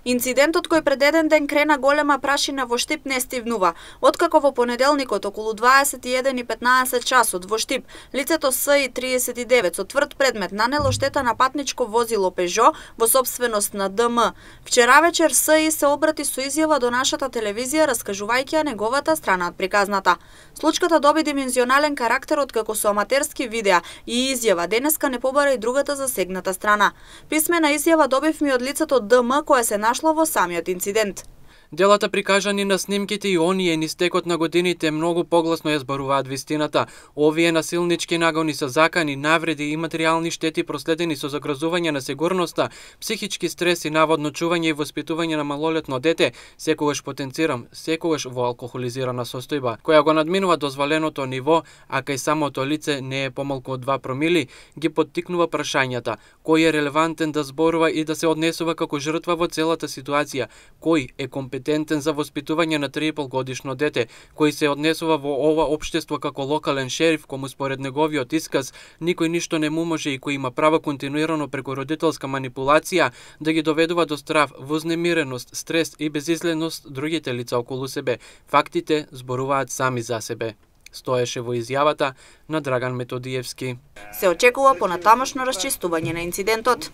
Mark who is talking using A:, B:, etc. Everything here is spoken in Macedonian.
A: Инцидентот кој пред еден ден крена голема прашина во Штип не стивнува. Откако во понеделникот околу 21:15 часот во Штип лицето СИ-39 со тврд предмет нанело штета на патничко возило Пежо во сопственост на ДМ. Вчера вечер СИ се обрати со изјава до нашата телевизија раскажувајќи ја неговата страна од приказната. Случката доби димензионален карактер откако со аматерски видеа и изјава денеска не побара и другата засегната страна. Писмена изјава добивме од лицето ДМ која се нашло во самиот инцидент.
B: Делата прикажани на снимките и оние низ текот на годините многу погласно ја зборуваат вистината. Овие насилнички нагони со закани, навреди и материјални штети проследени со загрозување на сигурноста, психички стрес и наводно чување и воспитување на малолетно дете, секогаш потенцирам, секогаш во алкохолизирана состојба, која го надминува дозволеното ниво, а кај самото лице не е помалку од 2 промили, ги поттикнува прашањата: кој е релевантен да зборува и да се однесува како жртва во целата ситуација, кој е компетентен за воспитување на 3,5 годишно дете, кој се однесува во ова општество како локален шериф, кому според неговиот исказ никој ништо не му може и кој има право континуирано преку родителска манипулација да ги доведува до страв, вознемиреност, стрес и безизгледност другите лица околу себе. Фактите зборуваат сами за себе, стоеше во изјавата на Драган Методиевски.
A: Се очекува понатамошно расчистување на инцидентот.